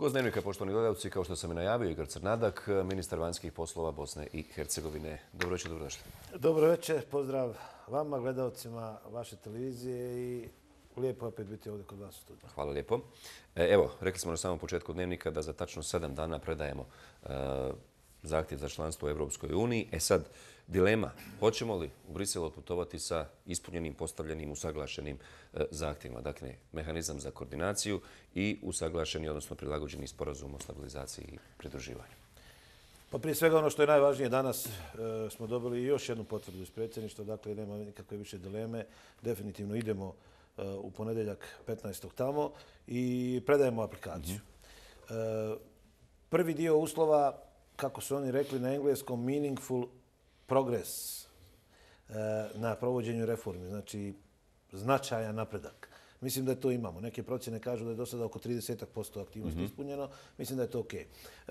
Gost Dnevnika, poštovani gledalci, kao što sam i najavio, Igor Crnadak, ministar vanjskih poslova Bosne i Hercegovine. Dobro večer, dobrodošli. Dobro večer, pozdrav vama, gledalcima vaše televizije i lijepo opet biti ovdje kod vas u studiju. Hvala lijepo. Evo, rekli smo na samom početku Dnevnika da za tačno 7 dana predajemo zahtjev za članstvo u Europskoj uniji. Sad, dilema, hoćemo li u Brisel otputovati sa ispunjenim, postavljenim, usaglašenim zahtjevima. Dakle, mehanizam za koordinaciju i usaglašeni, odnosno prilagođeni sporazum o stabilizaciji i pridruživanju. Pa prije svega ono što je najvažnije, danas smo dobili još jednu potvrdu iz predsjedništva, dakle nema nikakve više dileme. Definitivno idemo u ponedjeljak 15. tamo i predajemo aplikaciju. Prvi dio uslova, kako su oni rekli na engleskom, meaningful progress na provođenju reformi, znači značajan napredak. Mislim da to imamo. Neke procjene kažu da je do sada oko 30% aktivnosti ispunjeno. Mislim da je to ok.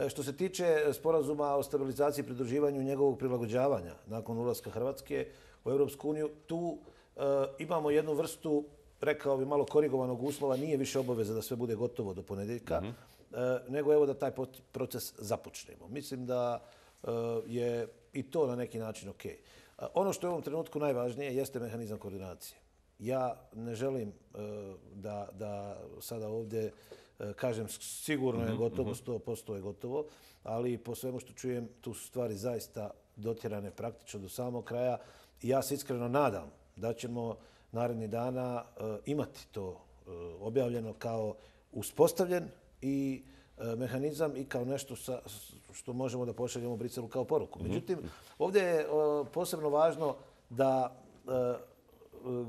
Što se tiče sporazuma o stabilizaciji i pridruživanju i njegovog prilagođavanja nakon ulaska Hrvatske u Europsku uniju, tu imamo jednu vrstu, rekao bi, malo korigovanog uslova. Nije više obaveza da sve bude gotovo do ponedjeljka, nego evo da taj proces započnemo. Mislim da je i to na neki način ok. Ono što je u ovom trenutku najvažnije jeste mehanizam koordinacije. Ja ne želim da sada ovdje kažem sigurno je gotovo, 100% je gotovo, ali po svemu što čujem tu su stvari zaista dotjerane praktično do samog kraja. I ja se iskreno nadam da ćemo narednih dana imati to objavljeno kao uspostavljen i mehanizam i kao nešto što možemo da pošaljemo Briselu kao poruku. Međutim, ovdje je posebno važno da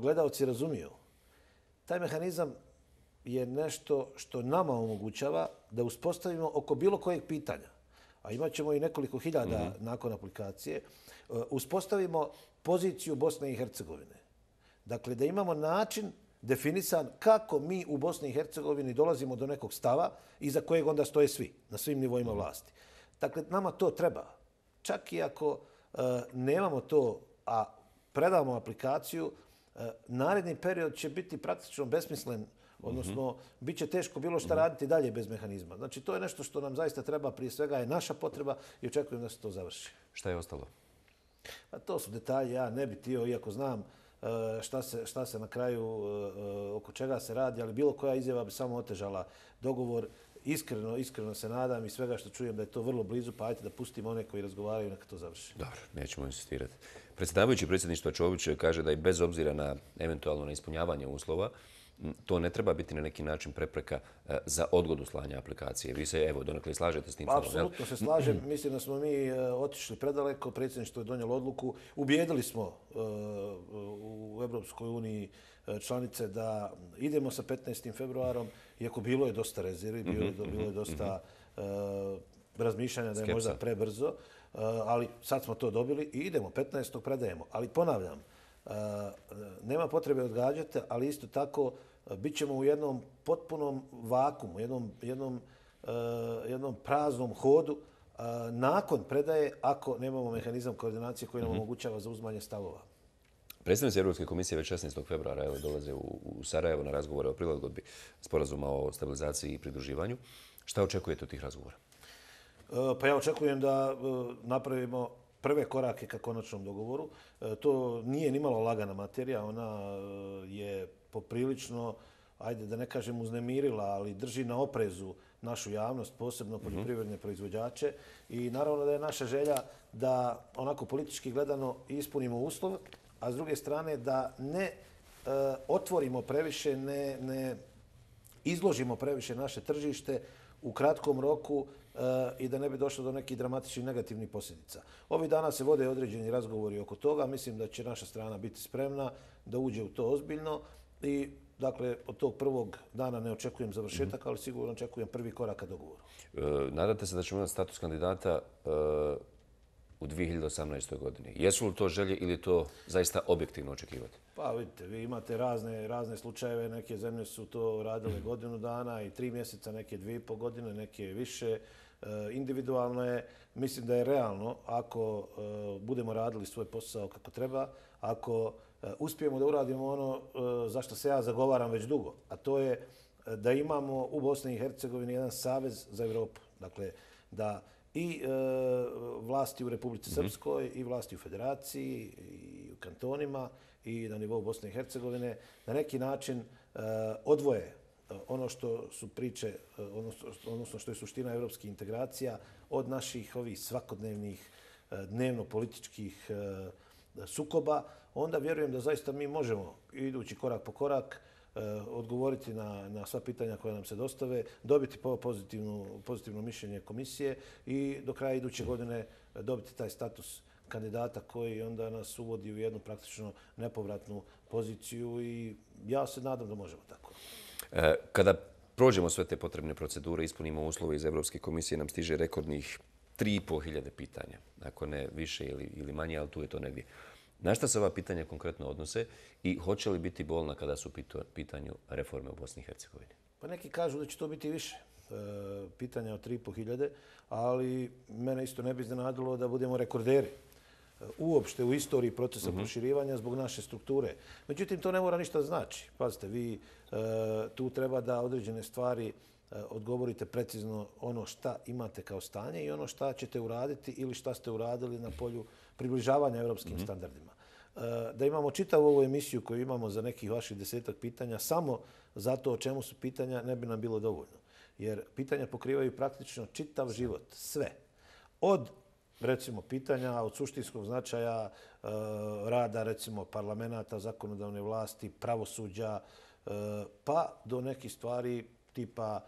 gledalci razumiju. Taj mehanizam je nešto što nama omogućava da uspostavimo oko bilo kojeg pitanja, a imat ćemo i nekoliko hiljada nakon aplikacije, uspostavimo poziciju Bosne i Hercegovine. Dakle, da imamo način definisan kako mi u Bosni i Hercegovini dolazimo do nekog stava iza kojeg onda stoje svi, na svim nivoima vlasti. Dakle, nama to treba. Čak i ako nemamo to, a predamo aplikaciju, naredni period će biti praktično besmislen, odnosno bit će teško bilo šta raditi dalje bez mehanizma. Znači, to je nešto što nam zaista treba, prije svega je naša potreba i očekujem da se to završi. Šta je ostalo? A to su detalji, ja ne bi htio, iako znam šta se na kraju, oko čega se radi, ali bilo koja izjava bi samo otežala dogovor. Iskreno se nadam i svega što čujem da je to vrlo blizu, pa ajte da pustimo one koji razgovaraju neka to završi. Dobro, nećemo insistirati. Predsjedavajući predsjedništva Čović kaže da i bez obzira na eventualno neispunjavanje uslova, to ne treba biti na neki način prepreka za odgodu slanja aplikacije. Vi se, evo, donekle slažete s tim? Apsolutno se slažem. Mislim da smo mi otišli predaleko. Predsjedništvo je donijelo odluku. Ubijedili smo u Europskoj uniji članice da idemo sa 15. februarom, iako bilo je dosta rezervi, bilo je dosta razmišljanja da je možda prebrzo, ali sad smo to dobili i idemo, 15. predajemo. Ali ponavljam, nema potrebe odgađati, ali isto tako bit ćemo u jednom potpunom vakumu, jednom praznom hodu nakon predaje ako nemamo mehanizam koordinacije koji nam omogućava zauzimanje stavova. Predstavnici Europske komisije već 16. februara dolaze u Sarajevo na razgovore o prilagodbi sporazuma o stabilizaciji i pridruživanju. Šta očekujete od tih razgovora? Pa ja očekujem da napravimo prve korake ka konačnom dogovoru. To nije nimalo lagana materija, ona je poprilično, ajde da ne kažem uznemirila, ali drži na oprezu našu javnost, posebno poljoprivredne proizvođače. I naravno da je naša želja da onako politički gledano ispunimo uslov, a s druge strane da ne otvorimo previše, ne izložimo previše naše tržište u kratkom roku i da ne bi došlo do nekih dramatičnih negativnih posljedica. Ovih dana se vode određeni razgovori oko toga. Mislim da će naša strana biti spremna da uđe u to ozbiljno i dakle, od tog prvog dana ne očekujem završetak, ali sigurno očekujem prvi korak ka dogovoru. Nadate se da ćemo imati status kandidata u 2018. godini. Jesu li to želje ili to zaista objektivno očekivati? Pa vidite, vi imate razne slučajeve. Neke zemlje su to radile godinu dana i 3 mjeseca, neke 2,5 godine, neke više. Individualno je, mislim da je realno ako budemo radili svoj posao kako treba, ako uspijemo da uradimo ono za što se ja zagovaram već dugo, a to je da imamo u Bosni i Hercegovini jedan savez za Europu. Dakle, da i vlasti u Republici Srpskoj i vlasti u Federaciji i u kantonima i na nivou Bosne i Hercegovine na neki način odvoje ono što su priče, odnosno što je suština evropskih integracija od naših ovih svakodnevnih dnevno-političkih sukoba, onda vjerujem da zaista mi možemo, idući korak po korak, odgovoriti na sva pitanja koja nam se dostave, dobiti pozitivno mišljenje komisije i do kraja iduće godine dobiti taj status kandidata koji onda nas uvodi u jednu praktično nepovratnu poziciju i ja se nadam da možemo tako. Kada prođemo sve te potrebne procedure, ispunimo uslove iz Europske komisije, nam stiže rekordnih 3.500 pitanja. Ako ne više ili manje, ali tu je to negdje. Na šta se ova pitanja konkretno odnose i hoće li biti bolna kada su u pitanju reforme u Bosni i Hercegovini? Pa neki kažu da će to biti više pitanja od 3.500, ali mene isto ne bi iznenadilo da budemo rekorderi uopšte u istoriji procesa proširivanja zbog naše strukture. Međutim, to ne mora ništa znači. Pazite, vi tu treba da određene stvari odgovorite precizno ono šta imate kao stanje i ono šta ćete uraditi ili šta ste uradili na polju približavanja europskim standardima. Da imamo čitavu ovu emisiju koju imamo za nekih vaših 10-ak pitanja samo zato o čemu su pitanja ne bi nam bilo dovoljno. Jer pitanja pokrivaju praktično čitav život, sve. Od recimo pitanja od suštinskog značaja rada recimo parlamenta, zakonodavne vlasti, pravosuđa, pa do nekih stvari tipa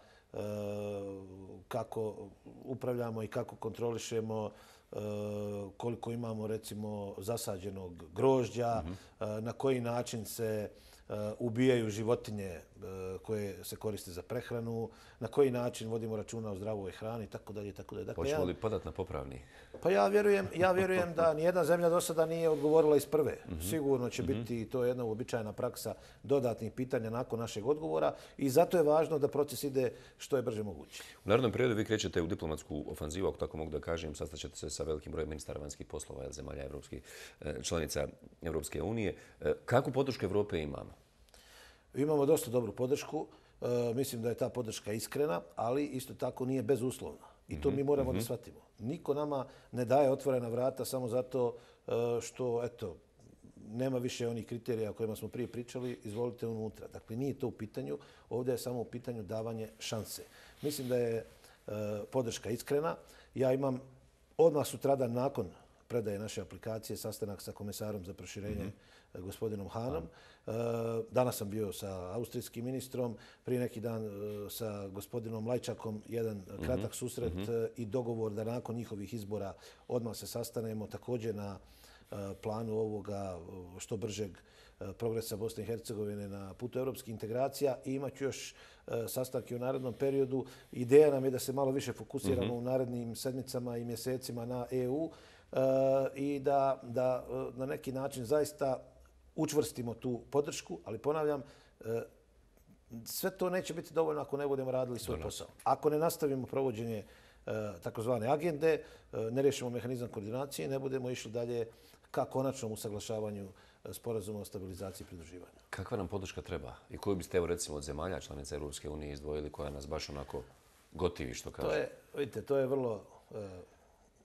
kako upravljamo i kako kontrolišemo koliko imamo recimo zasađenog grožđa, na koji način se ubijaju životinje koje se koriste za prehranu, na koji način vodimo računa o zdravoj hrani itd. Dakle, hoćemo li podati na popravni? Pa ja vjerujem da nijedna zemlja do sada nije odgovorila iz prve. Sigurno će biti to jedna uobičajena praksa dodatnih pitanja nakon našeg odgovora i zato je važno da proces ide što je brže moguće. U narednom periodu vi krećete u diplomatsku ofanzivu, ako tako mogu da kažem, sastaćete se sa velikim brojem ministara vanjskih poslova zemalja članica Europske unije. Kakvu podršku Evrope imamo? Imamo dosta dobru podršku. Mislim da je ta podrška iskrena, ali isto tako nije bezuslovna. I to mi moramo da shvatimo. Niko nama ne daje otvorena vrata samo zato što, eto, nema više onih kriterija o kojima smo prije pričali, izvolite unutra. Dakle, nije to u pitanju. Ovdje je samo u pitanju davanje šanse. Mislim da je podrška iskrena. Ja imam odmah sutradan nakon predaje naše aplikacije sastanak sa komesarom za proširenje gospodinom Hanom. Danas sam bio sa austrijskim ministrom, prije neki dan sa gospodinom Lajčakom, jedan kratak susret i dogovor da nakon njihovih izbora odmah se sastanemo također na planu ovoga što bržeg progresa Bosne i Hercegovine na putu europskih integracija i imat ću još sastanke u narednom periodu. Ideja nam je da se malo više fokusiramo u narednim sedmicama i mjesecima na EU i da na neki način zaista učvrstimo tu podršku, ali ponavljam, sve to neće biti dovoljno ako ne budemo radili svoj posao. Ako ne nastavimo provođenje takozvane agende, ne riješimo mehanizam koordinacije, ne budemo išli dalje ka konačnom usaglašavanju sporazuma o stabilizaciji i pridruživanju. Kakva nam podrška treba? I koju biste, evo recimo, od zemalja članica Europske unije izdvojili koja nas baš onako gotivi, što kaže? Vidite, to je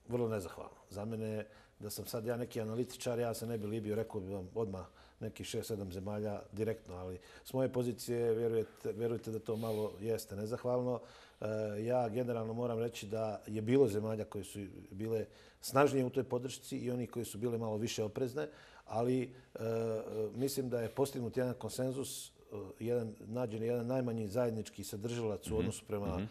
vrlo nezahvalno. Za mene, da sam sad ja neki analitičar, ja se ne bi libio, rekao bi vam odmah nekih 6-7 zemalja direktno, ali s moje pozicije vjerujte da to malo jeste nezahvalno. Ja generalno moram reći da je bilo zemalja koje su bile snažnije u toj podršci i oni koji su bile malo više oprezne, ali mislim da je postignut jedan konsenzus, nađen jedan najmanji zajednički sadržalac u odnosu prema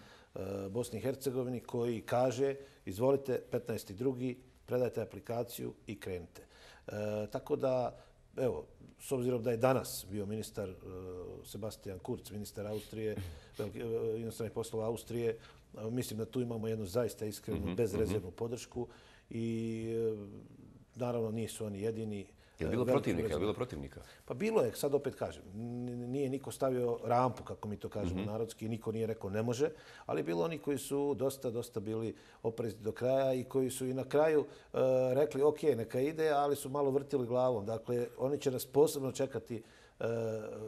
Bosni i Hercegovini koji kaže izvolite 15.2. predajte aplikaciju i krenite. Tako da, evo, s obzirom da je danas bio ministar Sebastian Kurz, ministar Austrije, inostranih poslova Austrije, mislim da tu imamo jednu zaista iskrenu, bezrezervnu podršku i naravno nisu oni jedini. Je li bilo protivnika? Pa bilo je, sad opet kažem, nije niko stavio rampu, kako mi to kažemo narodski, niko nije rekao ne može, ali bilo oni koji su dosta bili oprezni do kraja i koji su i na kraju rekli ok, neka ide, ali su malo vrtili glavom. Dakle, oni će nas posebno čekati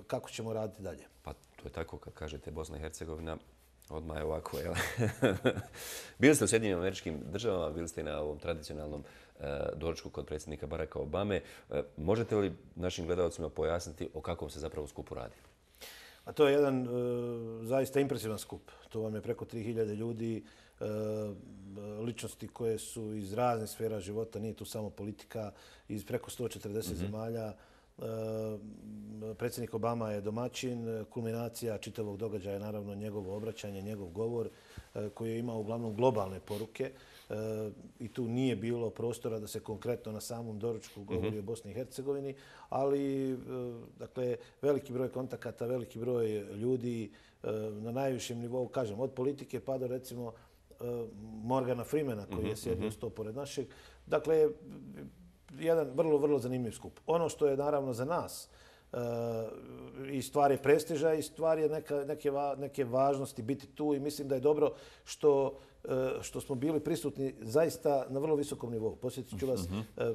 kako ćemo raditi dalje. Pa To je tako, kad kažete Bosna i Hercegovina, odmah je ovako, jel? Bili ste u Sjedinjenim Američkim Državama, bili ste i na ovom tradicionalnom doručku kod predsjednika Baracka Obame. Možete li našim gledalcima pojasniti o kakvom se zapravo skupu radi? A to je jedan zaista impresivan skup. To vam je preko 3000 ljudi, ličnosti koje su iz raznih sfera života, nije tu samo politika, iz preko 140 zemalja. Predsjednik Obama je domaćin, kulminacija čitavog događaja je naravno njegovo obraćanje, njegov govor koji je imao uglavnom globalne poruke i tu nije bilo prostora da se konkretno na samom doručku govori o Bosni i Hercegovini, ali dakle, veliki broj kontakata, veliki broj ljudi na najvišem nivou, kažem, od politike pa do recimo Morgana Freemana koji je sjedio sto pored našeg. Dakle, jedan vrlo, vrlo zanimljiv skup. Ono što je naravno za nas i stvar je prestiža i stvar je neke važnosti biti tu i mislim da je dobro što smo bili prisutni zaista na vrlo visokom nivou. Posjetit ću vas,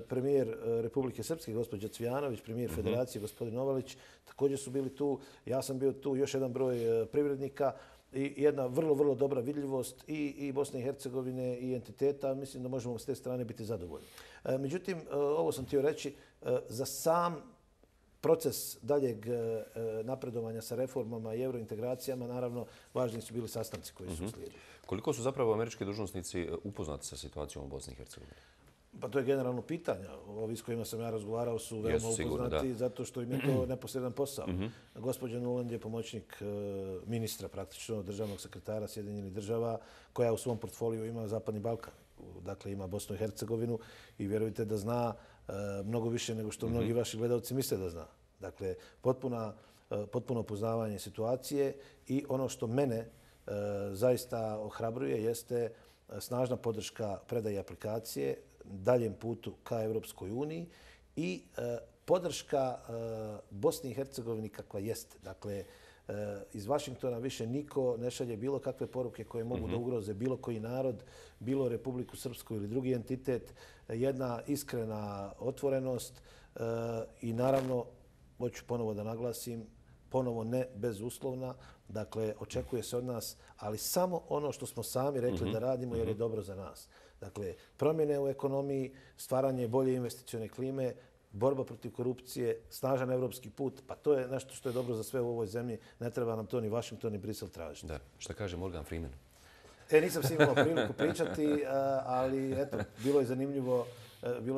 premijer Republike Srpske, gospođa Cvijanović, premijer Federacije, gospodin Novalić, također su bili tu. Ja sam bio tu, još jedan broj privrednika i jedna vrlo, vrlo dobra vidljivost i Bosne i Hercegovine i entiteta. Mislim da možemo s te strane biti zadovoljni. Međutim, ovo sam htio reći, za sam proces daljeg napredovanja sa reformama i eurointegracijama, naravno, važni su bili sastanci koji su slijedili. Koliko su zapravo američki dužnosnici upoznati sa situacijom u Bosni i Hercegovini? Pa to je generalno pitanje. Ovi s kojima sam ja razgovarao su veoma upoznati zato što im je to neposredan posao. Gospođa Nuland je pomoćnik ministra, praktično državnog sekretara Sjedinjenih Država, koja u svom portfoliju ima Zapadni Balkan. Dakle, ima Bosnu i Hercegovinu i vjerujte da zna mnogo više nego što mnogi vaši gledalci misle da zna. Dakle, potpuno poznavanje situacije i ono što mene zaista ohrabruje jeste snažna podrška predaje aplikacije daljem putu ka Europskoj uniji i podrška Bosni i Hercegovini kakva jeste. Dakle, iz Vašingtona više niko ne šalje bilo kakve poruke koje mogu da ugroze bilo koji narod, bilo Republiku Srpsku ili drugi entitet. Jedna iskrena otvorenost i naravno, hoću ponovo da naglasim, ponovo ne bezuslovna. Dakle, očekuje se od nas, ali samo ono što smo sami rekli da radimo jer je dobro za nas. Dakle, promjene u ekonomiji, stvaranje bolje investicione klime, borba protiv korupcije, snažan evropski put, pa to je nešto što je dobro za sve u ovoj zemlji. Ne treba nam to ni Washington ni Brisel tražiti. Da. Šta kaže Morgan Freeman? Nisam si imao priliku pričati, ali eto, bilo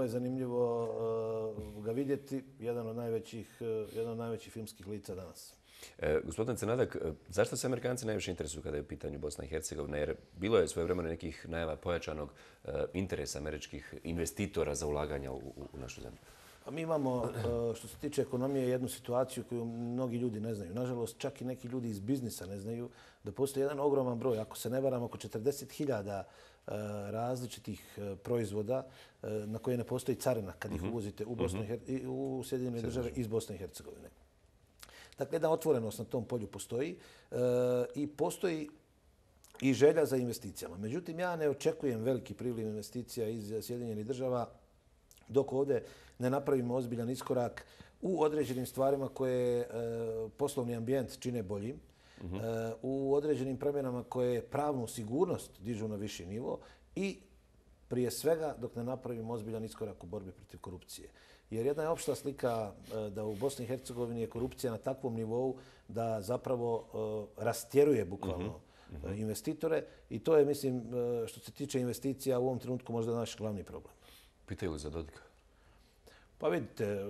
je zanimljivo ga vidjeti. Jedan od najvećih filmskih lica danas. Gospodin Crnadak, zašto se Amerikanci najviše interesuju kada je u pitanju Bosna i Hercegovina? Jer bilo je svojevremeno nekih najava pojačanog interesa američkih investitora za ulaganja u našu zemlju. Pa mi imamo, što se tiče ekonomije, jednu situaciju koju mnogi ljudi ne znaju. Nažalost, čak i neki ljudi iz biznisa ne znaju da postoji jedan ogroman broj, ako se ne varam, oko 40.000 različitih proizvoda na koje ne postoji carina kad ih uvozite u Sjedinjene Države iz Bosne i Hercegovine. Dakle, jedna otvorenost na tom polju postoji i postoji i želja za investicijama. Međutim, ja ne očekujem veliki priliv investicija iz Sjedinjenih Država dok ovdje ne napravimo ozbiljan iskorak u određenim stvarima koje poslovni ambijent čine boljim, u određenim promjenama koje pravnu sigurnost dižu na viši nivo i prije svega dok ne napravimo ozbiljan iskorak u borbi protiv korupcije. Jer jedna je opšta slika da u Bosni i Hercegovini je korupcija na takvom nivou da zapravo rastjeruje bukvalno investitore i to je, mislim, što se tiče investicija u ovom trenutku možda naš glavni problem. Pitaju li za Dodika? Pa vidite,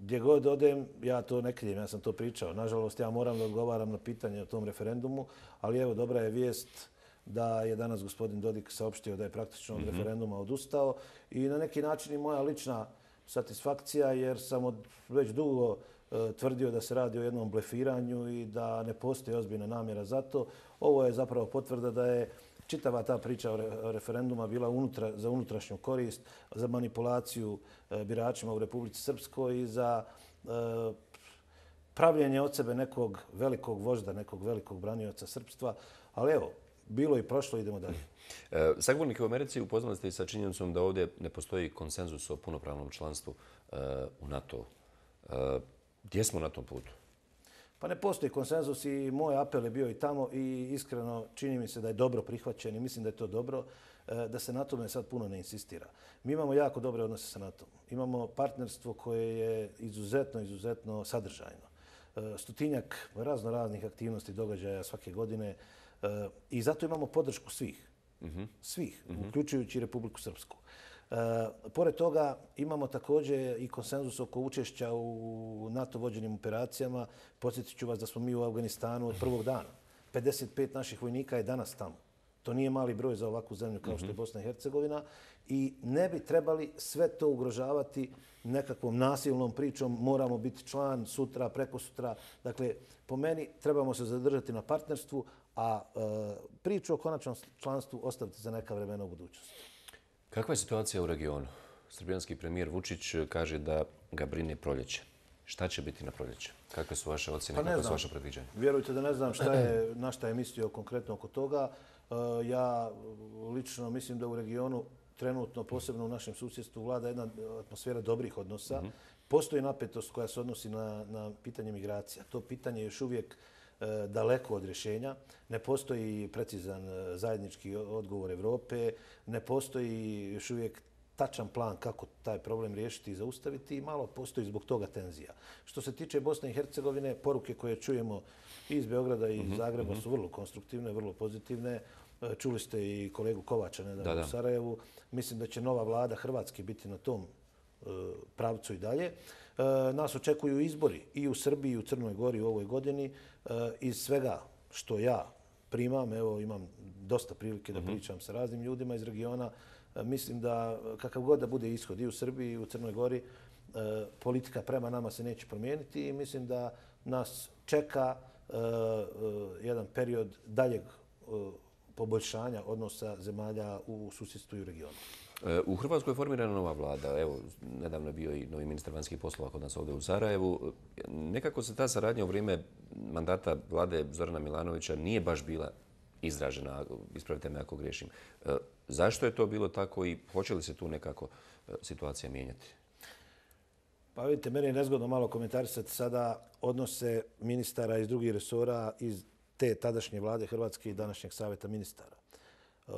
gdje god odem, ja to ne krijem, ja sam to pričao. Nažalost, ja moram da odgovaram na pitanje o tom referendumu, ali evo, dobra je vijest da je danas gospodin Dodik saopštio da je praktično od referenduma odustao i na neki način i moja lična satisfakcija jer sam već dugo tvrdio da se radi o jednom blefiranju i da ne postoji ozbiljna namjera za to. Ovo je zapravo potvrda da je čitava ta priča o referenduma bila za unutrašnju korist, za manipulaciju biračima u Republici Srpskoj i za pravljenje od sebe nekog velikog vožda, nekog velikog branioca srpstva. Ali evo, bilo i prošlo, idemo dalje. Sagovornike u Americi upoznali ste i sa činjenicom da ovdje ne postoji konsenzus o punopravnom članstvu u NATO. Gdje smo na tom putu? Pa ne postoji konsenzus i moj apel je bio i tamo i iskreno čini mi se da je dobro prihvaćen i mislim da je to dobro da se na tome sad puno ne insistira. Mi imamo jako dobre odnose sa NATO-om. Imamo partnerstvo koje je izuzetno sadržajno. Stotinjak raznih aktivnosti, događaja svake godine i zato imamo podršku svih. Svih, uključujući Republiku Srpsku. Pored toga imamo također i konsenzus oko učešća u NATO vođenim operacijama. Podsjetit ću vas da smo mi u Afganistanu od prvog dana. 55 naših vojnika je danas tamo. To nije mali broj za ovakvu zemlju kao što je Bosna i Hercegovina i ne bi trebali sve to ugrožavati nekakvom nasilnom pričom. Moramo biti član sutra, prekosutra. Dakle, po meni trebamo se zadržati na partnerstvu, a priču o konačnom članstvu ostaviti za neka vremena u budućnosti. Kakva je situacija u regionu? Srbijanski premijer Vučić kaže da ga brine proljeće. Šta će biti na proljeće? Kakve su vaše ocjene, kakve su vaše predviđanja? Vjerujte da ne znam na šta je mislio konkretno oko toga. Ja lično mislim da u regionu trenutno, posebno u našem susjedstvu, vlada jedna atmosfera dobrih odnosa. Postoji napetost koja se odnosi na pitanje migracija. To pitanje je još uvijek daleko od rješenja. Ne postoji precizan zajednički odgovor Evrope, ne postoji još uvijek tačan plan kako taj problem riješiti i zaustaviti i malo postoji zbog toga tenzija. Što se tiče Bosne i Hercegovine, poruke koje čujemo i iz Beograda i iz Zagreba su vrlo konstruktivne, vrlo pozitivne. Čuli ste i kolegu Kovača nedavno u Sarajevu. Mislim da će nova vlada Hrvatske biti na tom pravcu i dalje. Nas očekuju izbori i u Srbiji i u Crnoj Gori u ovoj godini. Iz svega što ja primam, evo imam dosta prilike da pričam sa raznim ljudima iz regiona, mislim da kakav god da bude ishod i u Srbiji i u Crnoj Gori, politika prema nama se neće promijeniti i mislim da nas čeka jedan period daljeg poboljšanja odnosa zemalja u susjedstvu i u regionu. U Hrvatskoj je formirana nova vlada. Evo, nedavno je bio i novi ministar vanjskih poslova kod nas ovdje u Sarajevu. Nekako se ta saradnja u vrijeme mandata vlade Zorana Milanovića nije baš bila izražena, ispravite me ako griješim. Zašto je to bilo tako i hoće li se tu nekako situacija mijenjati? Pa vidite, meni je nezgodno malo komentarisati sada odnose ministara iz drugih resora iz te tadašnje vlade Hrvatske i današnjeg savjeta ministara.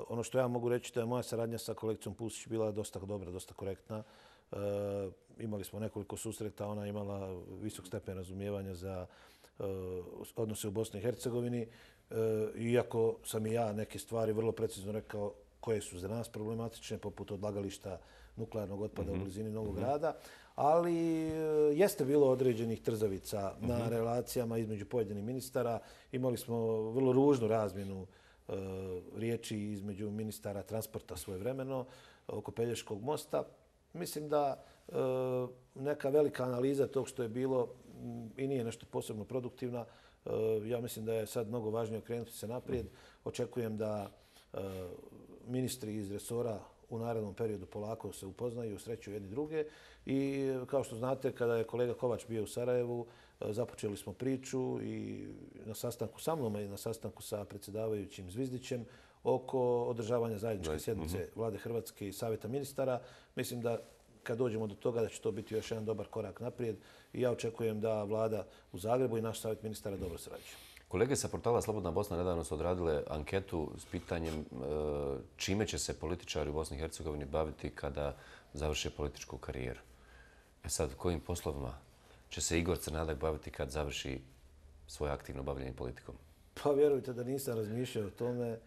Ono što ja mogu reći da je moja saradnja sa kolegicom Pusić bila dosta dobra, dosta korektna. Imali smo nekoliko susreta, ona je imala visok stepen razumijevanja za odnose u Bosni i Hercegovini. Iako sam i ja neke stvari vrlo precizno rekao koje su za nas problematične, poput odlagališta nuklearnog otpada u blizini Novog Grada, ali jeste bilo određenih trzavica na relacijama između pojedinih ministara. Imali smo vrlo ružnu razmjenu riječi između ministara transporta svojevremeno oko Pelješkog mosta. Mislim da neka velika analiza tog što je bilo i nije nešto posebno produktivna. Ja mislim da je sad mnogo važnije okrenuti se naprijed. Očekujem da ministri iz resora u narednom periodu polako se upoznaju, sreću jedni druge. I kao što znate, kada je kolega Kovač bio u Sarajevu, započeli smo priču i na sastanku sa mnom i na sastanku sa predsjedavajućim Zvizdićem oko održavanja zajedničke sjednice Vlade Hrvatske i Savjeta ministara. Mislim da kad dođemo do toga da će to biti još jedan dobar korak naprijed i ja očekujem da Vlada u Zagrebu i naš Savjet ministara dobro sarađuju. Kolege sa portala Slobodna Bosna nedavno su odradile anketu s pitanjem čime će se političari u Bosni i Hercegovini baviti kada završe političku karijeru. Sad, kojim poslovima će se Igor Crnadak baviti kad završi svoje aktivno bavljanje politikom? Pa vjerujte da nisam razmišljao o tome.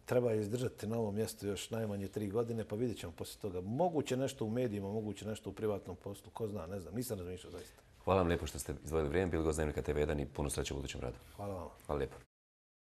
Treba izdržati na ovom mjestu još najmanje 3 godine, pa vidjet ćemo poslije toga. Moguće nešto u medijima, moguće nešto u privatnom poslu, ko zna, ne znam, nisam razmišljao zaista. Hvala vam lijepo što ste izdvojili vrijeme, bili gost Dnevnika TV1 i puno sreće u budućem radu. Hvala vam. Hvala lijepo.